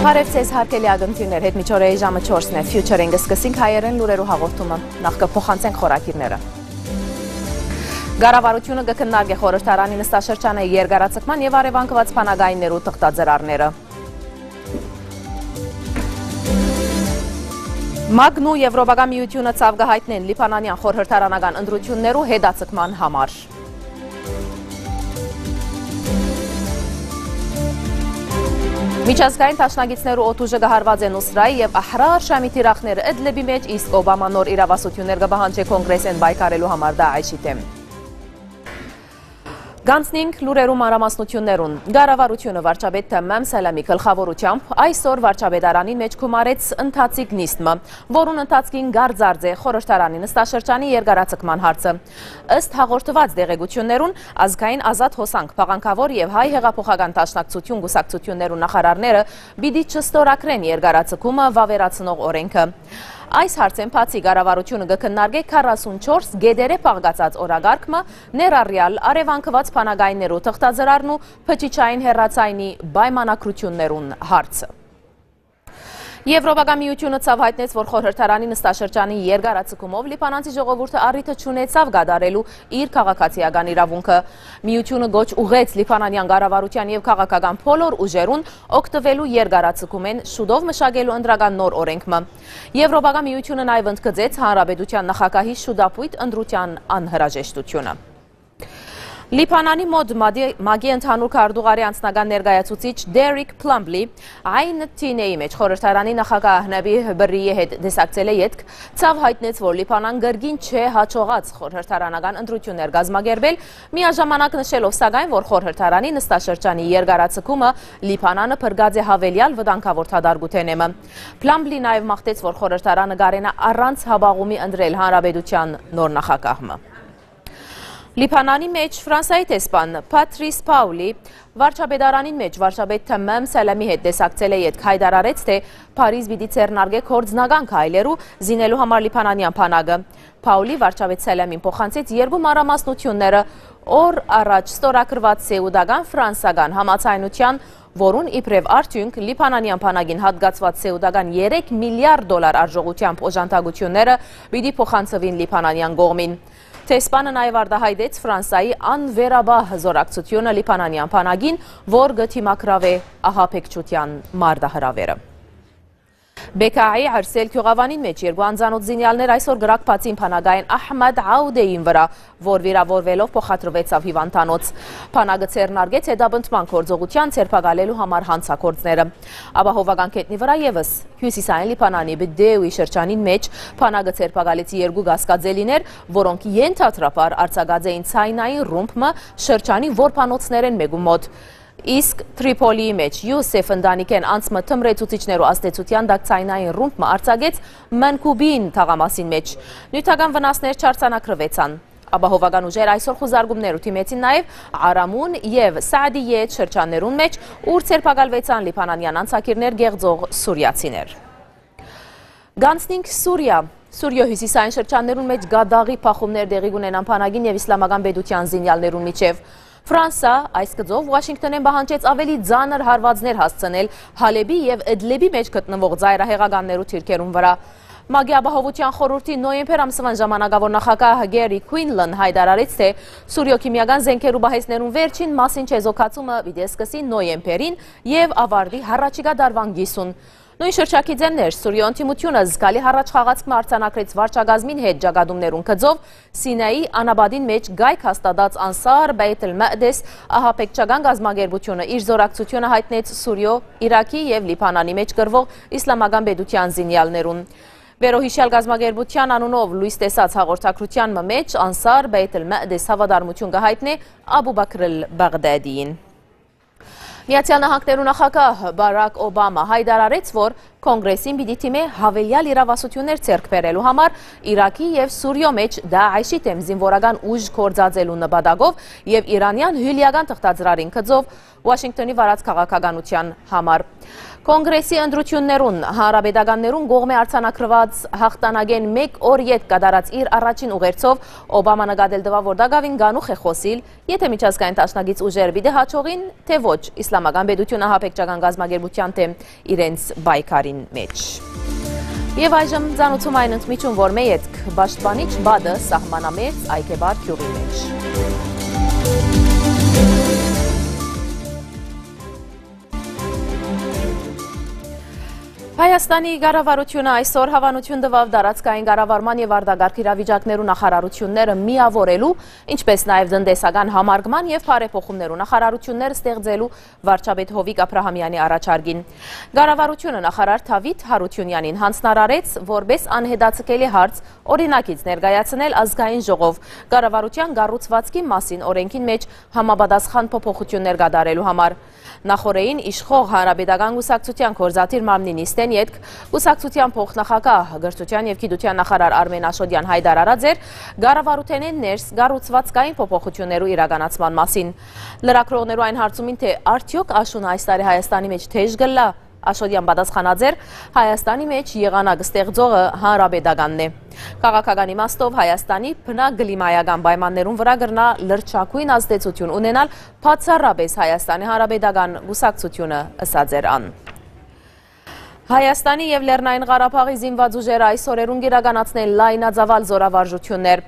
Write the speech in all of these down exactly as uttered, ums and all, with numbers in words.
Բարև ձեզ, հարգելի ակնթիւններ, հետ միջօրեի ժամը չորսն է։ Future-ին կսկսենք հայերեն լուրերու հաղորդումը։ Նախ կը փոխանցենք խորագիրները։ Կառավարութիւնը կը քննարկէ խորհրդարանի նստաշրջանը երկարաձգման եւ առեւանգուած բանակայիններու թղթածրարները։ Մագն ու Եվրոպական միությունը ցաւ կը յայտնեն լիբանանեան խորհրդարանական ընտրութիւններու հետաձգման համար։ Միջազգային դաշնակիցներու օդուժը կը հարուածէ Նուսրայի եւ Ահրար Շամի թիրախները Ըդլիբի մէջ, իսկ Օբամա նոր իրաւասութիւններ կը պահանջէ Կոնկրեսէն պայքարելու համար Դաեշի դէմ։ Կանցնենք լուրերու մանրամասնութիւններուն։ Կառավարութիւնը վարչապետ Թեմմեմ Սալամի գլխաւորութեամբ այսօր վարչապետարանին մէջ գումարեց ընթացիկ նիստ մը, որուն ընթացքին կարծած է խորհրդարանի նստաշրջանի երկարաձգման հարցը։ Ըստ հաղորդուած տեղեկութիւններուն, Ազգային ազատ հոսանք, Փաղանքաւոր եւ Հայ հեղափոխական դաշնակցություն կուսակցութիւններու նախարարները պիտի չստորագրեն երկարաձգումը վաւերացնող օրէնքը։ Այս հարցէն բացի կառավարութիւնը կը քննարկէ քառասունչորս գետերէ փաղկացած օրակարգ մը, ներառեալ առեւանգուած բանակայիններու թղթածրարն ու բջջային հեռացայինի պայմանագրութիւններուն հարցը։ Եվրոպական միութիւնը ցաւ յայտնեց, որ խորհրդարանի նստաշրջանի երկարաձգումով լիբանանցի ժողովուրդը առիթը չունեցաւ կատարելու իր քաղաքացիական իրաւունքը։ Միութիւնը գոչ ուղղեց լիբանանեան կառավարութեան եւ քաղաքական բոլոր ուժերուն օգտուելու երկարաձգումէն շուտով մշակելու ընտրական նոր օրենք մը։ Եվրոպական միութիւնը նաեւ ընդգծեց հանրապետութեան նախագահի շուտապոյտ ընտրութեան անհրաժեշտութիւնը։ Լիբանանի մօտ Մադի-, մագի ընդհանուր քարտուղարի անձնական ներկայացուցիչ Դերիք Փլամբլի Այն Թինեի մէջ խորհրդարանի նախագահ Նաբիհ Բրրիի հետ տեսակցելէ ետք ցաւ յայտնեց, որ Լիբանան կրկին չէ հաջողած խորհրդարանական ընտրութիւններ կազմակերպել, միաժամանակ նշելով սակայն, որ խորհրդարանի նստաշրջանի երկարաձգումը Լիբանանը փրկած է յաւելեալ վտանգաւոր դատարկութենէ մը։ Փլամբլի նաեւ մաղթեց, որ խորհրդարանը կարենայ առանց հապաղումի ընտրել հանրապետութեան նոր նախագահ մը։ Լիբանանի մէջ Ֆրանսայի դեսպան Փատրիս Փաուլի վարչապետարանին մէջ վարչապետ Թեմմեմ Սալամի հետ տեսակցելէ ետք յայտարարեց, թէ Փարիզ պիտի ձեռնարկէ գործնական քայլերու զինելու համար լիբանանեան բանակը։ Փաուլի վարչապետ Սալամին փոխանցեց երկու մանրամասնութիւնները՝ օր առաջ ստորագրուած սեուտական-ֆրանսական համաձայնութեան, որուն իբրեւ արդիւնք լիբանանեան բանակին յատկացուած սեուտական երեք միլիարդ դոլար արժողութեամբ օժանդակութիւնները պիտի փոխանցուին լիբանանեան կողմին։ Դեսպանը նաեւ արտայայտեց Ֆրանսայի անվերապահ զօրակցութիւնը լիբանանեան բանակին, որ կը դիմագրաւէ ահաբեկչութեան մարտահրաւերը։ Բեքայի Արսել գիւղաւանին մէջ երկու անծանօթ զինեալներ այսօր կրակ բացին բանակային Ահմեդ Աուդեին վրայ, որ վիրաւորուելով փոխադրուեցաւ հիւանդանոց։ Բանակը ձեռնարկեց հետապնդման գործողութեան ձերբակալելու համար հանցագործները։ Ապահովական գետնի վրայ եւս հիւսիսային Լիբանանի Բդեուի շրջանին մէջ բանակը ձերբակալեց երկու կասկածելիներ, որոնք ենթադրաբար արձակած էին ցայնային ռումբ մը շրջանի որբանոցներէն մէկու մօտ։ Իսկ Տրիփոլիի մէջ Յուսեֆ ընտանիքէն անցմը թմրեցուցիչներու ազդեցութեան տակ ցայնային ռումբ մը արձակեց Մանկուբին թաղամասին մէջ։ Նիւթական վնասներ չարձանագրուեցան։ Ապահովական ուժեր այսօր խուզարկումներու դիմեցին նաեւ Արամուն եւ Սաադիյետ շրջաններուն մէջ, ուր ձերբակալուեցան լիբանանեան անցագիրներ կեղծող սուրիացիներ։ Գանցնինք Սուրիա։ Սուրիոյ հիւսիսային շրջաններուն մէջ կատաղի փախումներ տեղի կունենան բանակին եւ Իսլամական պետութեան զինեալներուն միջեւ։ Ֆրանսա այս գծով Ուաշինկթոնէն պահանջեց ավելի ծանր հարուածներ հասցնել Հալէպի եւ Ըդլիբի մէջ գտնուող ծայրահեղականներու թիրքերուն վրայ։ ՄԱԿ-ի Ապահովութեան խորհուրդի նոյեմբեր ամսուան ժամանակաւոր նախագահ Գերի Քուինլան յայտարարեց, թէ Սուրիոյ քիմիական զէնքերու պահեստներուն վերջին մասին չեզոքացումը պիտի սկսի նոյեմբերին եւ աւարտի յառաջիկայ տարուան կիսուն։ Նոյն շրջագիծէն ներս Սուրիոյ ընդդիմութիւնը զգալի յառաջխաղացք մը արձանագրեց վարչակազմին հետ ճակատումներուն գծով Սինայի անապատին մէջ կայք հաստատած Անսար Բեյթ Ալ Մադես ահաբեկչական կազմակերպութիւնը իր զօրակցութիւնը յայտնեց Սուրիոյ, Իրաքի եւ Լիբանանի մէջ կռուող Իսլամական պետութեան զինեալներուն։ Վերոյիշեալ կազմակերպութեան անունով լոյս տեսած հաղորդագրութեան մը մէջ Անսար Բեյթ Ալ Մադես հաւատարմութիւն կը յայտնէ Աբու Բաքր Ալ Բաղդադիին։ Միացեալ Նահանգներու նախագահ Բարակ Օբամա յայտարարեց, որ Կոնգրեսին պիտի դիմէ յաւելեալ իրաւասութիւններ ձեռք բերելու համար Իրաքի եւ Սուրիոյ մէջ Դաէշի դէմ զինուորական ուժ գործածելու նպատակով եւ իրանեան հիւլէական թղթածրարին գծով Ուաշինկտոնի վարած քաղաքականութեան համար։ Կոնգրեսի ընտրութիւններուն հանրապետականներուն կողմէ արձանագրուած յաղթանակէն մէկ օր ետք կատարած իր առաջին ուղերձով Օբամա նկատել տուաւ, որ տակաւին կանուխ է խօսիլ, եթէ միջազգային դաշնակից ուժեր պիտի յաջողին, թէ ոչ, Իսլամական պետութիւնը ահաբեկչական կազմակերպութեան դէմ իրենց պայքարին մէջ։ Եւ այժմ ծանուցում այն ընդմիջում, որ մէ ետք պաշտպանիչ պատը սահմանամերձ Այգեպար գիւղի մէջ։ Հայաստանի կառավարութիւնը այսօր հաւանութիւն տուաւ տարածքային կառավարման եւ արտակարգ իրավիճակներու նախարարութիւնները միաւորելու, ինչպէս նաեւ տնտեսական համարկման եւ բարեփոխումներու նախարարութիւններ ստեղծելու վարչապետ Յովիկ Աբրահամեանի առաջարկին։ Կառավարութիւնը նախարար Դավիթ Յարութիւնեանին յանձնարարեց որպէս անհետաձգելի հարց օրինակից ներկայացնել ազգային ժողով կառավարութեան կառուցուածքի մասին օրէնքին մէջ համապատասխան փոփոխութիւններ կատարելու համար։ Նախօրէին իշխող Հանրապետական կուսակցութեան գործադիր մարմնի նիստէն ետք կուսակցութեան փոխնախագահ, կրթութեան եւ գիտութեան նախարար Արմէն Աշոտեան յայտարարած էր կառավարութենէն ներս կառուցվածքային փոփոխութիւններու իրականացման մասին։ Լրագրողներու այն հարցումին, թէ արդեօք աշունը այս տարի Հայաստանի մէջ թէժ կ'ըլլայ, Աշոտեան պատասխանած էր. «Հայաստանի մէջ եղանակ ստեղծողը Հանրապետականն է։ Քաղաքական իմաստով Հայաստանի բնակլիմայական պայմաններուն վրայ կրնայ լրջագոյն ազդեցութիւն ունենալ բացառապէս Հայաստանի Հանրապետական կուսակցութիւնը», ըսած էր ան։ Հայաստանի եւ Լեռնային Ղարաբաղի զինուած ուժերը այս օրերուն կ'իրականացնեն լայնածաւալ զօրավարժութիւններ։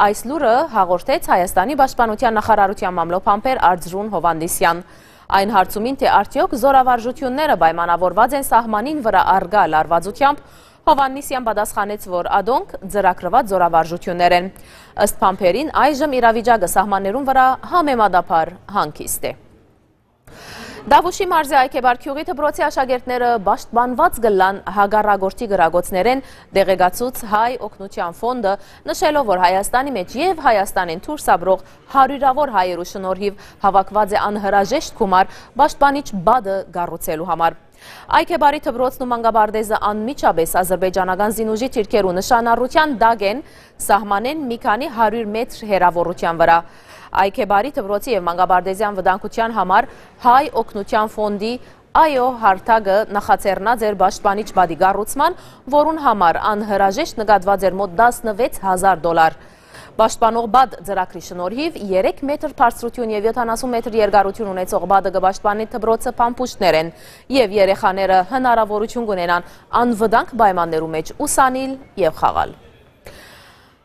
Այս լուրը հաղորդեց Հայաստանի պաշտպանութեան նախարարութեան մամլոյ բանբեր Արծրուն Յովհաննիսեան։ Այն հարցումին, թէ արդեօք զօրավարժութիւնները պայմանաւորուած են սահմանին վրայ առկայ լարուածութեամբ, Յովհաննիսեան պատասխանեց, որ ադոնք ծրագրուած զօրավարժութիւններ են։ Ըստ բանբերին, այժմ իրավիճակը սահմաններուն վրայ համեմատաբար հանգիստ է։ Դաւուշի մարզի Այգեպար գիւղի դպրոցի աշակերտները պաշտպանուած կ'ըլլան հակառակորդի կրակոցներէն, տեղեկացուց Հայ օգնութեան ֆոնդը, նշելով, որ Հայաստանի մէջ եւ Հայաստանէն դուրս ապրող հարիւրաւոր հայերու շնորհիւ հաւաքուած է անհրաժեշտ գումար պաշտպանիչ պատը կառուցելու համար։ Այգեպարի դպրոցն ու մանկապարտէզը անմիջապէս ազրպէյճանական զինուժի դիրքերու նշանառութեան տակ են, սահմանէն մի քանի հարիւր մեթր հեռաւորութեան վրայ։ Այգեպարի դպրոցի եւ մանկապարտէզեան վտանգութեան համար Հայ օգնութեան ֆոնդի Այո հարթակը նախաձեռնած էր պաշտպանիչ պատի կառուցման, որուն համար անհրաժեշտ նկատուած էր մօտ տասնվեց հազար դոլար։ Պաշտպանող պատ ծրագրի շնորհիվ երեք մեթր բարձրութիւն եւ յոթանասուն մեթր երկարութիւն ունեցող պատը կը պաշտպանի դպրոցը փամփուշտներէն, եւ երեխաները հնարաւորութիւն կունենան անվտանգ պայմաններու մէջ ուսանիլ եւ խաղալ։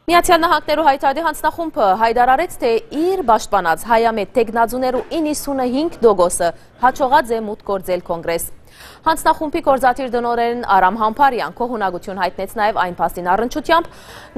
Միացյալ Նահանգներու Հայդատի յանձնախումբը յայտարարեց, թէ իր պաշտպանած հայամետ թեկնածուներու իննսունհինգ տոկոսը յաջողած է մուտք գործել Կոնգրես։ Յանձնախումբի գործադիր տնօրէն Արամ Համբարեան գոհունակութիւն յայտնեց նաեւ այն փաստին առնչութեամբ,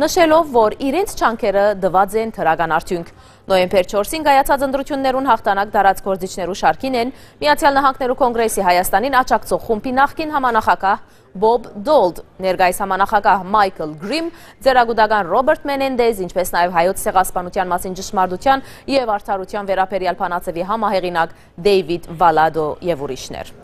նշելով, որ իրենց ջանքերը տուած են դրական արդիւնք։ Նոյեմբեր չորսին կայացած ընտրութիւններուն յաղթանակ տարած գործիչներու շարքին են Միացյալ Նահանգներու Կոնգրեսի Հայաստանին աջակցող խումբի նախկին համանախագահ Բոբ Դոլտ, ներկայիս համանախագահ Մայքլ Գրիմ, ծերակուտական Ռոբերտ Մենենդեզ, ինչպէս նաեւ հայոց ցեղասպանութեան մասին ճշմարտութեան եւ արդարութեան վերաբերեալ բանաձեւի համահեղինակ Դեյվիդ Վալադո եւ ուրիշներ։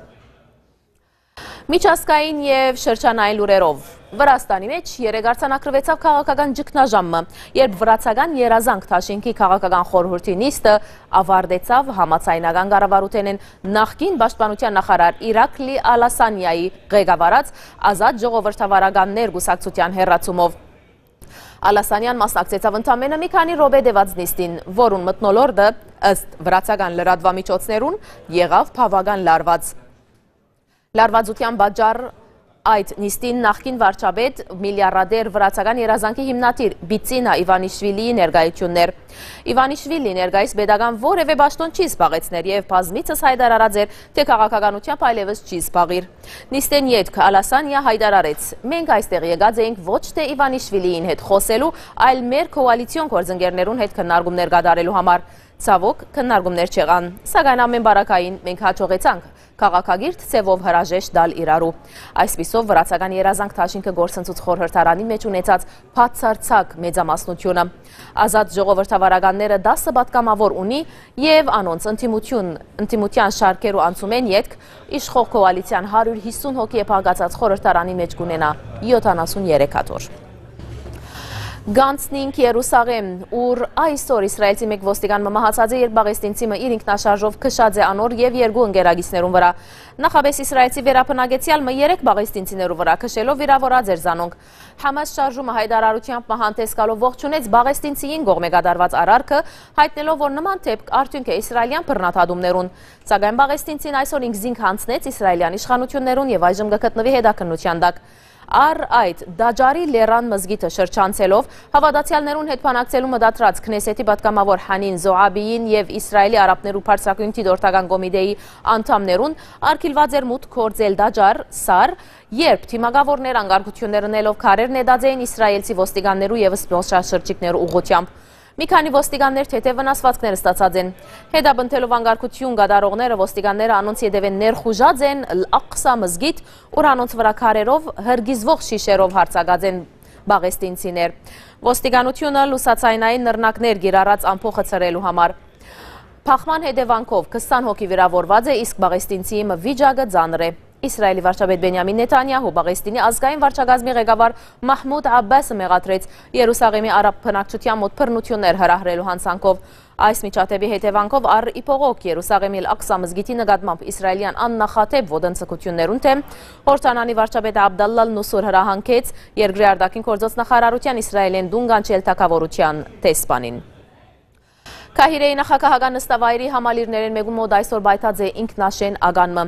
Միջազգային եւ շրջանային լուրերով։ Վրաստանի մէջ երեկ արձանագրուեցաւ քաղաքական ճգնաժամ մը, երբ վրացական երազանք դաշինքի քաղաքական խորհուրդի նիստը ավարտեցաւ համաձայնական կառավարութենէն նախկին պաշտպանութեան նախարար Իրակլի Ալասանիայի ղեկավարած Ազատ ժողովրդավարականներ կուսակցութեան հեռացումով։ Ալասանիան մասնակցեցաւ ընդամենը մի քանի րոպե տեւած նիստին, որուն մթնոլորտը, ըստ վրացական լրատուամիջոցներուն, եղաւ բաւական լարված։ Լարվածութեան պատճառ այդ նիստին նախկին վարչապետ, միլիարդատեր վրացական երազանքի հիմնադիր Բիցինա Իվանիշվիլիի ներկայութիւնն էր։ Իվանիշվիլին ներկայիս պետական որեւէ պաշտօն չի զբաղեցներ եւ բազմիցս յայտարարած էր, թէ քաղաքականությամբ այլեւս չի զբաղիր։ Նիստէն ետք Ալասանիա յայտարարեց. «Մենք այստեղ եկած էինք ոչ թէ Իվանիշվիլիին հետ խօսելու, այլ մեր քոալիցիոն գործընկերներուն հետ քննարկումներ կատարելու համար»։ Ցաւոք, քննարկումներ չեղան, սակայն ամէն պարագային մենք յաջողեցանք քաղաքակիրթ ձեւով հրաժեշտ տալ իրարու։ Այսպիսով, վրացական երազանք դաշինքը գործընծուց խորհրդարանին մէջ ունեցած բացարձակ մեծամասնությունը։ Ազատ ժողովրդավարականները տասը պատգամաւոր ունի եւ անոնց ընդդիմություն, ընդդիմութեան շարքերու անցումէն ետք իշխող կոալիցիան հարիւր յիսուն հոգի է փակացած խորհրդարանի մէջ կունենայ յոթանասուն երեք աթոռ։ Գանցնինք Երուսաղէմ, ուր այսօր իսրայելցի մէկ ոստիկան մը մահացած է, երբ պաղեստինցի մը իր ինքնաշարժով քշած է անոր եւ երկու ընկերագիցներուն վրայ։ Նախապէս իսրայելցի վերաբնակեցեալ մը երեք պաղեստինցիներու վրայ քշելով վիրաւորած էր զանոնք։ Համաս շարժումը յայտարարութեամբ մը հանդես գալով ողջունեց պաղեստինցիին կողմէ կատարուած արարքը, յայտնելով, որ նման դէպք արդիւնք է իսրայելեան բռնադատումներուն։ Սակայն պաղեստինցին այսօր ինքզինք յանձնեց իսրայելեան իշխանութիւններուն եւ այժմ կը գտնուի հետաքննութեան տակ։ Առ այդ, Դաջարի լեռան մզկիթը շրջանցելով, հաւատացեալներուն հետ բանակցելու մտադրած Քնեսեթի պատգամաւոր Հանին Զոհաբիին եւ Իսրայելի արաբներու բարձրակոյն դիտորդական կոմիտեի անդամներուն արգիլուած էր մուտք գործել Դաջար սար, երբ դիմակաւորներ անկարգութիւններ ընելով քարեր նետած էին իսրայելցի ոստիկաններու եւ զբօսաշրջիկներու ուղղութեամբ։ Մի քանի ոստիկաններ թեթեւ վնասուածքներ ստացած են։ Հետապնդելով անկարգութիւն կատարողները, ոստիկանները անոնց ետեւէն ներխուժած են Ալ Աղսա մզկիթ, ուր անոնց վրայ քարերով, հրկիզուող շիշերով յարձակած են պաղեստինցիներ։ Ոստիկանութիւնը լուսաձայնային նռնակներ կիրառած ամբոխը ցրելու համար։ Բախման հետեւանքով քսան հոգի վիրաւորուած է, իսկ պաղեստինցիի մը վիճակը ծանր է։ Իսրայելի վարչապետ Բենիամին Նեթանյահու, Պաղեստինի ազգային վարչակազմի ղեկավար Մահմուդ Աբբասը մեղադրեց Երուսաղեմի արաբ բնակչութեան մօտ բռնութիւններ հրահրելու յանցանքով։ Այս միջադէպի հետեւանքով առ ի բողոք Երուսաղեմի Ալ Աղսա մզկիթի նկատմամբ իսրայելեան աննախադէպ ոտնձգութիւններուն դէմ Յորդանանի վարչապետ Աբդալլա Ալ Նուսուր հրահանգեց երկրի արտաքին գործոց նախարարութեան Իսրայելէն տուն կանչել թագաւորութեան դեսպանին։ Քահիրեի նախագահական նստավայրի համալիրներէն մէկուն մօտ այսօր պայթած է ինքնաշէն ական մը։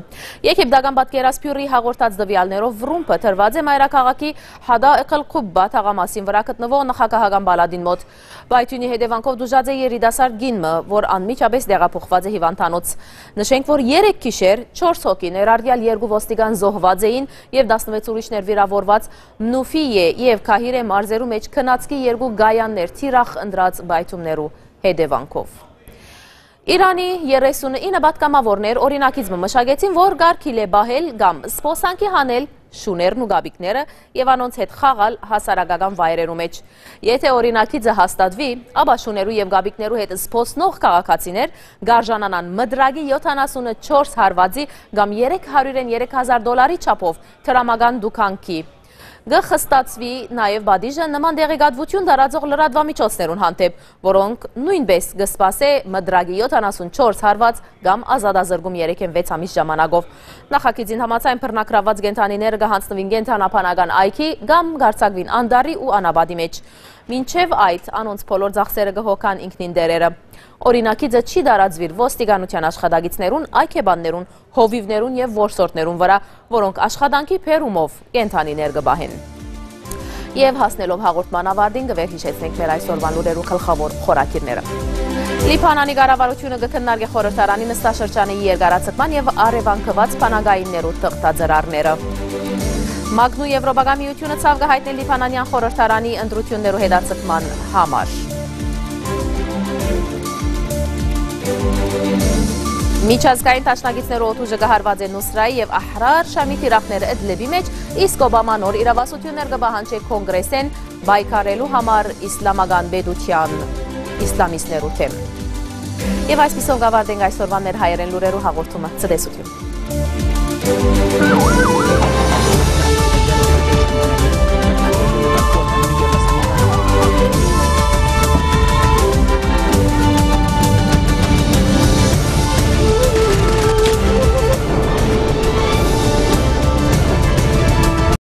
Եգիպտական պատկերասփիւռի հաղորդած տուեալներով ռումբը դրուած է մայրաքաղաքի Հադա Էքլ Խուբբա թաղամասին վրայ գտնուող նախագահական պալատին մօտ։ Պայթիւնի հետեւանքով տուժած է երիտասարդ կին մը, որ անմիջապէս տեղափոխուած է հիւանդանոց։ Նշենք, որ երեկ գիշեր չորս հոգի, ներառյալ երկու ոստիկան, զոհուած էին եւ տասնվեց ուրիշներ վիրաւորուած Նուֆիյէ եւ Քահիրէ մարզերու մէջ քնածքի երկու կայաններ թիրախ ընտրած պայթումներու հետեւանքով։ Իրանի երեսունինը պատգամաւորներ օրինագիծ մը մշակեցին, որ կարգիլ է պահել կամ զբօսանքի հանել շուներն ու կապիկները եւ անոնց հետ խաղալ հասարակական վայրերու մէջ։ Եթէ օրինագիծը հաստատուի, ապա շուներու եւ կապիկներու հետ զբօսնող քաղաքացիներ կ'արժանանան մտրակի յոթանասունը չորս հարուածի կամ երեք հարիւր երեք հազար դոլարի չափով դրամական դուքանքի։ Կը խստացուի նաեւ պատիժը նման տեղեկատուութիւն տարածող լրատուամիջոցներուն հանդէպ, որոնք նոյնպէս կը սպասէ մտրակի յոթանասուն չորս հարուած կամ ազատազրկում երեքէն վեց ամիս ժամանակով։ Նախագիծին համաձայն, բռնագրաւուած կենդանիները կը յանձնուին կենդանաբանական այգի կամ կ'արձակուին անտառի ու անապատի մէջ։ Մինչեւ այդ, անոնց բոլոր ծախսերը կը հոգան ինքնին տէրերը։ Օրինագիծը չի տարածուիր ոստիկանութեան աշխատակիցներուն, այգեբաններուն, հովիւներուն եւ որսորդներուն վրայ, որոնք աշխատանքի բերումով կենդանիներ կը պահեն։ Եւ հասնելով հաղորդման ավարտին, կը վերհիշեցնենք մեր այսօրվան լուրերու գլխաւոր խորագիրները։ Լիբանանի կառավարութիւնը կը քննարկէ խորհրդարանի նստաշրջանի երկարաձգման եւ առեւանգուած բանակայիններու թղթածրարները։ Մագնու Եվրոպական միութիւնը ցաւ կը յայտնի լիբանանեան խորհրդարանի ընտրութիւններու հետաձգման համար։ Միջազգային դաշնակիցներու օդուժը կը հարուածէ Նուսրայի եւ Ահրար Շամի թիրախները Էդլեբի մէջ, իսկ Օբամա նոր իրավասություններ կը պահանջէ Կոնգրեսէն պայքարելու համար իսլամական պետութեան իսլամիստներու դէմ։ Եւ այսպիսով կ'ավարտենք այսօրվան մեր հայերէն լուրերու հաղորդումը։ Ցտեսութիւն։